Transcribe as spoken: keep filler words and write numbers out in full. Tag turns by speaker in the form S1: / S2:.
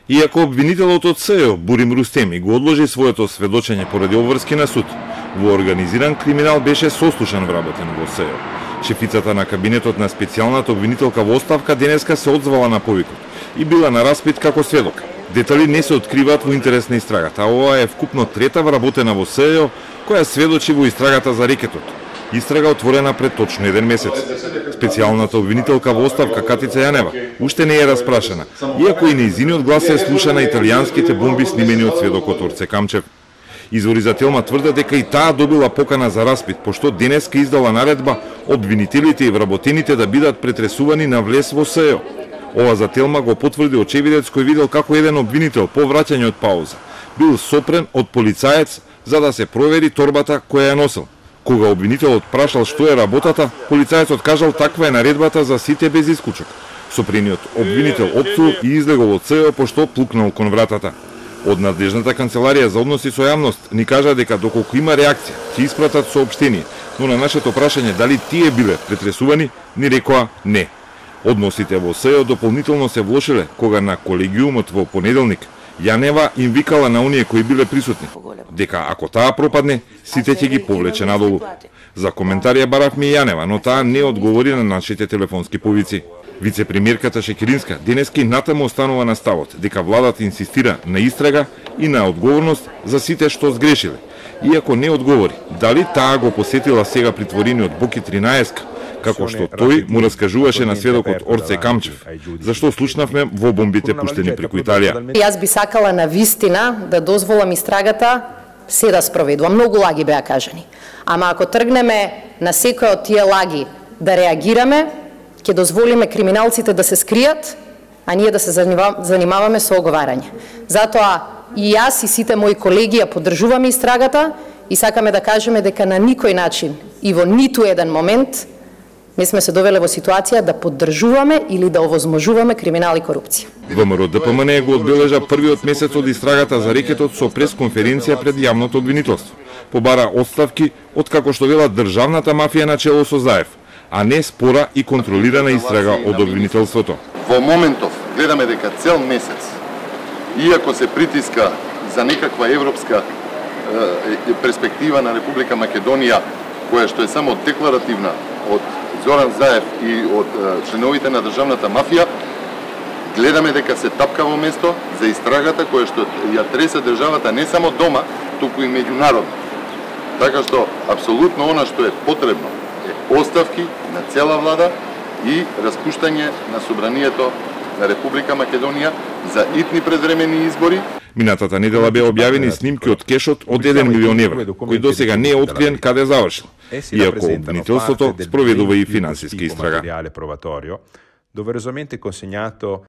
S1: Иако обвинителот од СЕО Бурим Рустеми го одложи своето сведочење поради обврски на суд, во организиран криминал беше сослушан вработен во СЕО. Шефицата на кабинетот на специјалната обвинителка во оставка денеска се одзвала на повикот и била на распит како сведок. Детали не се откриваат во интерес на истрагата, а ова е вкупно трета вработена во СЕО која сведочи во истрагата за рекетот. Истрага отворена пред точно еден месец. Специјалната обвинителка во оставка Катица Јанева уште не е распрашена, иако и нејзиниот глас е слуша на италијанските бомби снимени од сведокот Орце Камчев. Извори за Телма тврдат дека и таа добила покана за распит, пошто денеска издала наредба обвинителите и вработените да бидат претресувани на влез во СЕО. Ова за Телма го потврди очевидец кој видел како еден обвинител по враќање од пауза бил сопрен од полицаец за да се провери торбата која ја носел. Кога обвинителот прашал што е работата, полицаецот кажал таква е наредбата за сите без исклучок. Сопрениот обвинител отсул и излегол од СЕО пошто плукнал кон вратата. Од надлежната канцеларија за односи со јавност ни кажа дека доколку има реакција, ќе испратат соопштение, но на нашето прашање дали тие биле претресувани, ни рекоа не. Односите во СЕО дополнително се влошиле кога на колегиумот во понеделник Јанева им викала на оние кои биле присутни дека ако таа пропадне, сите ќе ги повлече надолу. За коментар ја баравме и Јанева, но таа не одговори на нашите телефонски повици. Вице-премиерката Шекеринска денеска натаму останува на ставот дека владата инсистира на истрага и на одговорност за сите што сгрешиле. Иако не одговори дали таа го посетила сега притворениот Боки тринаесет, како што тој му раскажуваше на сведокот Орце Камчев, зашто слушнавме во бомбите пуштени преку Италија.
S2: Јас би сакала на вистина да дозволам истрагата се да спроведува. Многу лаги беа кажани. Ама ако тргнеме на секој од тие лаги да реагираме, ќе дозволиме криминалците да се скријат, а ние да се занимаваме со оговарање. Затоа и јас и сите мои колеги ја поддржуваме истрагата и сакаме да кажеме дека на никој начин и во ниту еден момент не сме се довеле во ситуација да поддржуваме или да овозможуваме криминал и корупција.
S1: ВМРО Д П М Н го одбележа првиот месец од истрагата за рекетот со пресконференција пред јавното обвинителство. Побара отставки од како што вела државната мафија на чело со Заев, а не спора и контролирана истрага од обвинителството.
S3: Во моментов гледаме дека цел месец, иако се притиска за некаква европска е, перспектива на Република Македонија, која што е само декларативна од Зоран Заев и од е, членовите на државната мафија, гледаме дека се тапка во место за истрагата која што ја тресе државата не само дома, туку и меѓународно. Така што апсолутно она што е потребно е оставки на цела влада и распуштање на собранието на Република Македонија за итни предвремени избори.
S1: Минатата недела беа објавени снимки од кешот од еден милион евра, кој досега не е откриен каде завршил, иако обвинителството спроведува и финансиска истрага.